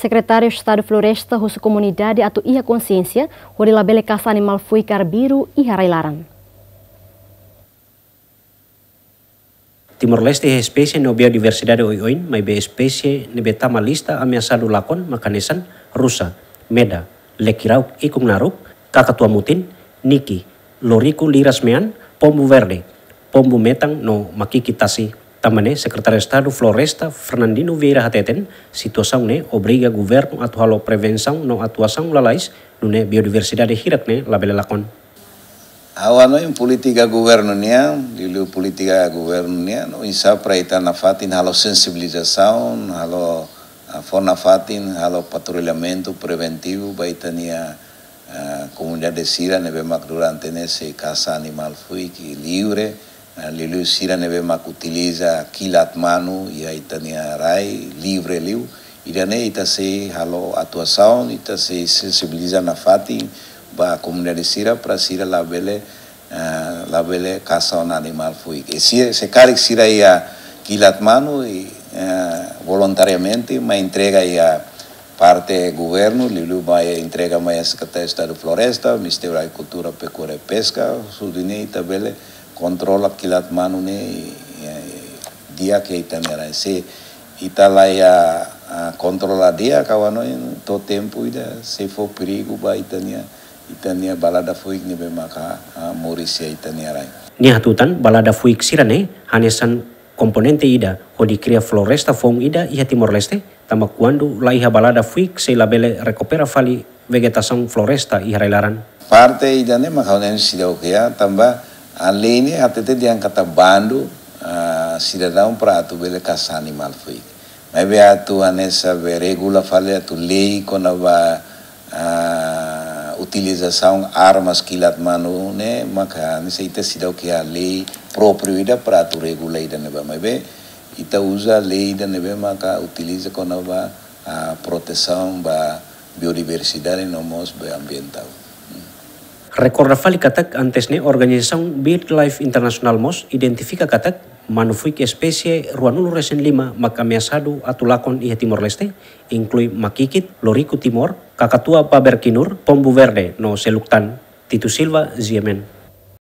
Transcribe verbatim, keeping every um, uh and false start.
Sekretáriu Estadu Floresta husu komunidade atu iha konsiénsia hodi labele kasa animál fuik arbiru iha rai-laran. Timor-Leste iha espésie no biodiversidade oioin, maibé espésie ne'ebé tama lista ameasadu lakon mak hanesan rusa, meda, lekirauk ikun naruk, kakatua mutin, niki, loriku liras mean, pombu verde, pombu metan no makikit tasi. Tanba ne'e, Sekretáriu Estadu Floresta, Fernandino Vieira hateten, situasaun ne'e obriga governu atu halo prevensaun no atuasaun lalais, nune'e biodiversidade hirak ne'e labele lakon. Ha'u hanoin polítika governu nian, liuliu polítika governu nian, oinsá para ita nafatin halo sensibilizasaun, halo, ah, fó nafatin, halo patrullamentu preventivu ba ita-nia, ah, komunidade sira ne'ebé mak durante ne'e sei kasa animál fuik livre, ah, liuliu sira ne'ebé mak utiliza kilat manu iha ita-nia rai livre liu. Ida-ne'e ita sei halo atuasaun, ita sei sensibiliza nafatin ba komunidade sira para sira labele, ah, labele kasa ona animál fuik. I se, se karik sira iha kilat manu i, ah, voluntariamente mai entrega iha parte governu, liuliu mai entrega mai iha Sekretáriu Estadu Floresta, Ministériu Agrikultura, Pekuária i Peska, husu nune'e ita bele kontrola kilat manu ne'e, eh, di'ak iha ita-nia rai. Se ita la iha, ah, kontrola di'ak, ha'u hanoin to'o tempu ida sei fó perigu ba ita-nia, ita-nia balada fuik ne'ebé maka, ah, moris iha ita-nia rai. Nia hatutan balada fuik sira-ne'e hanesan komponente ida hodi kria floresta foun ida iha Timor-Leste, tanba kuandu la iha balada fuik sei labele rekupera fali vegetasaun floresta iha rai-laran. Parte ida-ne'e mak ha'u hanoin seidauk iha, tanba lei ne'e hatete dehan katak bandu, ah, sidadaun para atu bele kasa animál fuik. Maibé atu hanesan be regula fali atu lei kona-ba, ah, utilizasaun armas kilat manu ne'e, maka hanesan ita seidauk iha lei própriu ida para atu regula ida-ne'ebá. Maibé ita uza lei ida ne'ebé maka utiliza kona-ba, ah, protesaun ba biodiversidade no mós ba ambientál. Hmm. Rekorda fali katak antes ne'e organizasaun BirdLife International mós identifika katak manu fuik espésie ruanulu resin lima mak ameasadu atu lakon iha Timor-Leste, inklui makikit, loriku timor, kakatua paber kinur, pombu verde no seluk tan. Tito Silva, G M N.